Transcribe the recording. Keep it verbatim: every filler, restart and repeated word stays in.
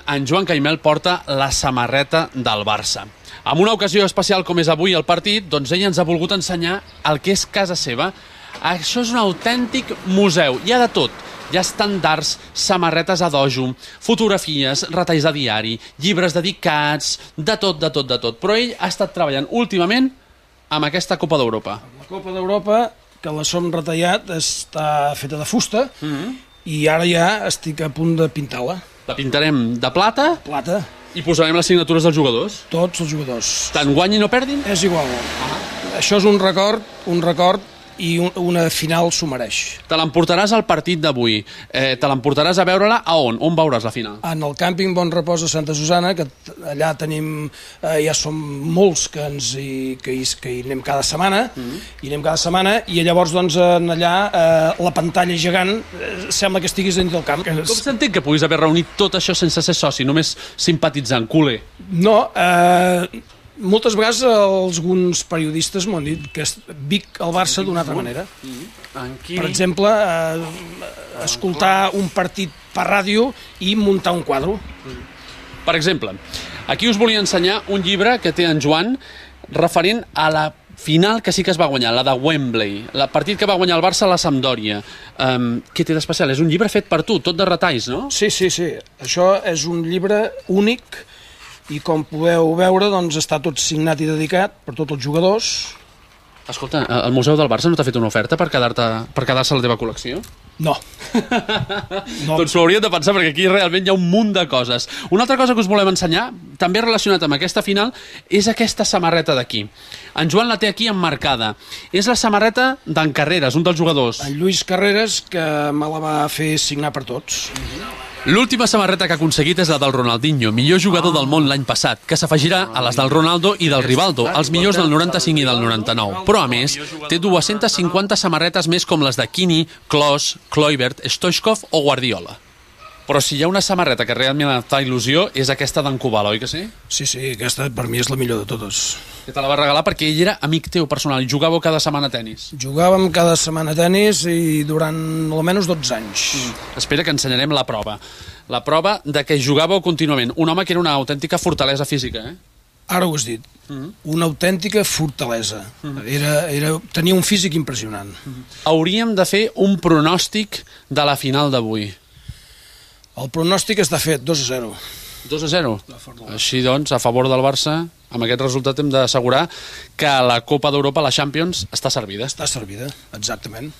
en Joan Caimel porta la samarreta del Barça. En una ocasió especial com és avui el partit, doncs ell ens ha volgut ensenyar el que és casa seva. Això és un autèntic museu, hi ha de tot. Hi ha estandards, samarretes a dojo, fotografies, retalls de diari, llibres dedicats, de tot, de tot, de tot. Però ell ha estat treballant últimament amb aquesta Copa d'Europa. La Copa d'Europa, que la som retallat, està feta de fusta, mm-hmm. i ara ja estic a punt de pintar-la. La pintarem de plata? Plata. I posarem les signatures dels jugadors? Tots els jugadors. Tant guanyin o perdin? És igual. Ah. Això és un record, un record, i una final s'ho mereix. Te l'emportaràs al partit d'avui. Eh, te l'emportaràs a veure-la a on? On veuràs la final? En el càmping Bon Repòs de Santa Susana, que allà tenim, eh, ja som molts que, ens hi, que, hi, que hi anem cada setmana, mm-hmm. hi anem cada setmana, i llavors doncs allà eh, la pantalla gegant eh, sembla que estiguis dins del camp. Com s'entén que puguis haver reunit tot això sense ser soci, només simpatitzant, culer? No, eh... moltes vegades alguns periodistes m'han dit que vic el Barça d'una altra manera. Per exemple, eh, escoltar un partit per ràdio i muntar un quadre. Per exemple, aquí us volia ensenyar un llibre que té en Joan referent a la final que sí que es va guanyar, la de Wembley, el partit que va guanyar el Barça a la Sampdoria. Um, què té d'especial? És un llibre fet per tu, tot de retalls, no? Sí, sí, sí. Això és un llibre únic i com podeu veure doncs, està tot signat i dedicat per tots els jugadors. Escolta, el Museu del Barça no t'ha fet una oferta per quedar-te per quedar-se a la teva col·lecció? No. no. Doncs ho hauríem de pensar, perquè aquí realment hi ha un munt de coses. Una altra cosa que us volem ensenyar, també relacionat amb aquesta final, és aquesta samarreta d'aquí. En Joan la té aquí emmarcada. És la samarreta d'en Carreras, un dels jugadors. En Lluís Carreras, que me la va fer signar per tots. Mm-hmm. L'última samarreta que ha aconseguit és la del Ronaldinho, millor jugador del món l'any passat, que s'afegirà a les del Ronaldo i del Rivaldo, els millors del noranta-cinc i del noranta-nou. Però, a més, té dues-centes cinquanta samarretes més com les de Kini, Klose, Kluivert, Stoichkov o Guardiola. Però si hi ha una samarreta que realment em fa il·lusió, és aquesta d'en Kubala, oi que sí? Sí, sí, aquesta per mi és la millor de totes. Que te la va regalar perquè ell era amic teu personal i jugàveu cada setmana a tenis. Jugàvem cada setmana a tenis i durant almenys dotze anys. Mm. Espera que ensenyarem la prova. La prova de que jugàveu contínuament. Un home que era una autèntica fortalesa física, eh? Ara ho has dit. Mm-hmm. Una autèntica fortalesa. Mm-hmm. Era, era, tenia un físic impressionant. Mm-hmm. Hauríem de fer un pronòstic de la final d'avui. El pronòstic està fet, dos a zero. dos a zero? Així doncs, a favor del Barça, amb aquest resultat hem d'assegurar que la Copa d'Europa, la Champions, està servida. Està servida, exactament.